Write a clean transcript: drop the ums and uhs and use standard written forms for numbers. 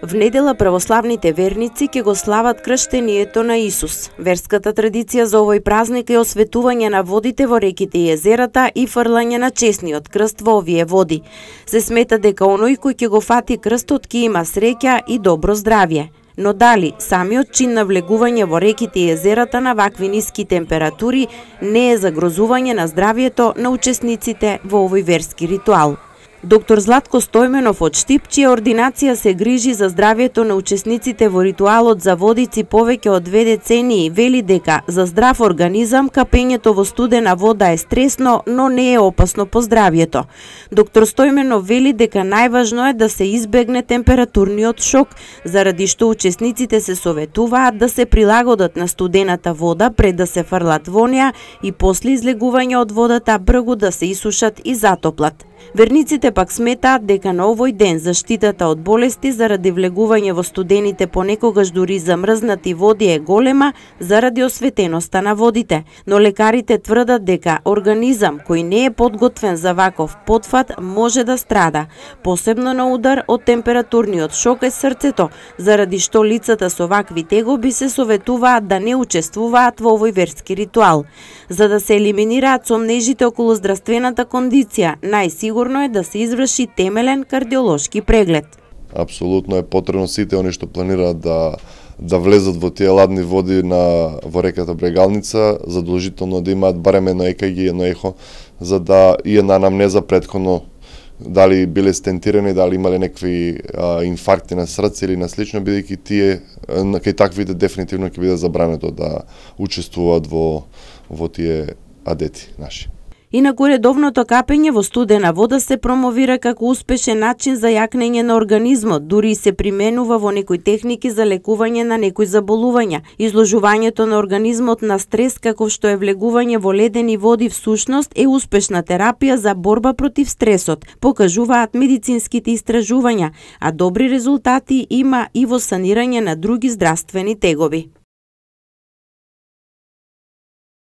В недела православните верници ќе го слават крштението на Исус. Верската традиција за овој празник е осветување на водите во реките и езерата и фрлање на чесниот крст во овие води. Се смета дека оној кој ќе го фати крстот ќе има среќа и добро здравје. Но дали самиот чин на влегување во реките и езерата на вакви ниски температури не е загрозување на здравјето на учесниците во овој верски ритуал? Доктор Златко Стојменов од Штип, чија ординација се грижи за здравјето на учесниците во ритуалот за водици повеќе од 2 децении, вели дека за здрав организам капењето во студена вода е стресно, но не е опасно по здравјето. Доктор Стојменов вели дека најважно е да се избегне температурниот шок, заради што учесниците се советуваат да се прилагодат на студената вода пред да се фрлат во неа и после излегување од водата бргу да се исушат и затоплат. Верниците пак сметаат дека на овој ден заштитата од болести заради влегување во студените понекогаш дури замрзнати води е голема заради осветеноста на водите, но лекарите тврдат дека организам кој не е подготвен за ваков потфат може да страда. Посебно на удар од температурниот шок е срцето, заради што лицата со вакви тегоби се советуваат да не учествуваат во овој верски ритуал. За да се елиминираат сомнежите околу здравствената кондиција, најсигурно е да се изврши темелен кардиолошки преглед. Апсолутно е потребно сите они што планираат да влезат во тие ладни води во реката Брегалница, задолжително да имаат барем едно ЕКГ и едно ехо, за да и една анамнеза претходно дали биле стентирани, дали имале некакви инфаркти на срце или на слично, бидејќи тие кај таквите дефинитивно ќе биде забрането да учествуваат во тие адети наши. Инаку редовното капење во студена вода се промовира како успешен начин за јакнење на организмот, дури и се применува во некои техники за лекување на некои заболувања. Изложувањето на организмот на стрес, како што е влегување во ледени води, всушност е успешна терапија за борба против стресот, покажуваат медицинските истражувања, а добри резултати има и во санирање на други здравствени тегоби.